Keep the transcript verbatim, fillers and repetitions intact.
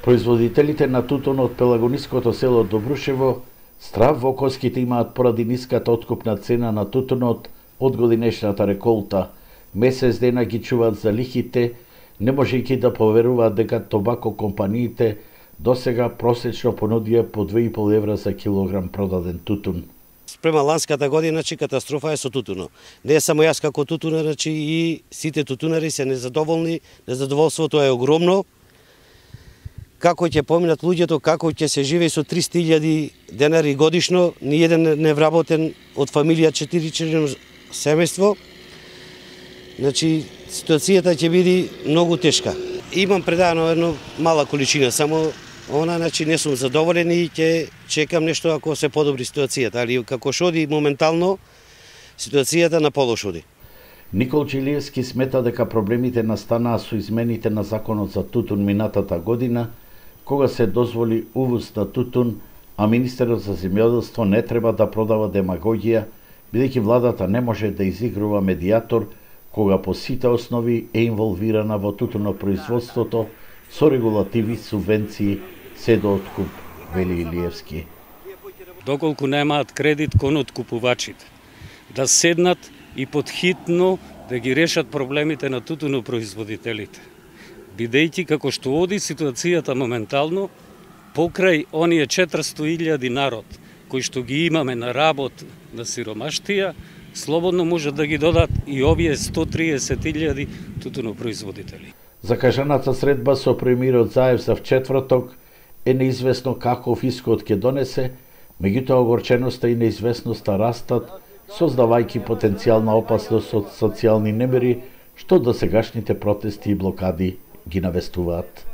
Производителите на тутун од пелагониското село Добрушево страв во коските имаат поради ниската откупна цена на тутунот од годинешната реколта. Месец дена ги чуваат за лихите, не можејќи да поверуваат дека тобако компаниите досега просечно понудија по две и пол евра за килограм продаден тутун. Спрема ланската година, значи катастрофа е со тутунот. Не е само јас како тутунар, значи и сите тутунари се незадоволни, незадоволството е огромно. Како ќе поминат луѓето, како ќе се живее со триста илјади денари годишно, ни еден не вработен од фамилија четиричлено семејство. Значи, ситуацијата ќе биде многу тешка. Имам предано една мала количина, само она, значи, не сум задоволен и ќе чекам нешто ако се подобри ситуацијата, али како шоди моментално, ситуацијата на полош оди. Никол Джилиевски смета дека проблемите настанаа со измените на законот за тутун минатата година, кога се дозволи увоз на тутун, а министерот за земјоделство не треба да продава демагогија, бидејќи владата не може да изигрува медијатор кога по сите основи е инволвирана во тутунопроизводството со регулативи, субвенции, се до откуп, вели Илиевски. Доколку немаат кредит кон откупувачите, да седнат и подхитно да ги решат проблемите на тутунопроизводителите. Бидејќи како што оди ситуацијата моментално, покрај оние четиристотини илјади народ кои што ги имаме на работ на сиромаштија, слободно можат да ги додат и овие сто триесет илјади тутунопроизводители. Закажаната средба со премиерот Заев за вчетврток е неизвестно каков исход ќе донесе, меѓутоа огорченоста и неизвестноста растат, создавајќи потенцијална опасност од социјални немири, што досегашните протести и блокади ги навестуваат.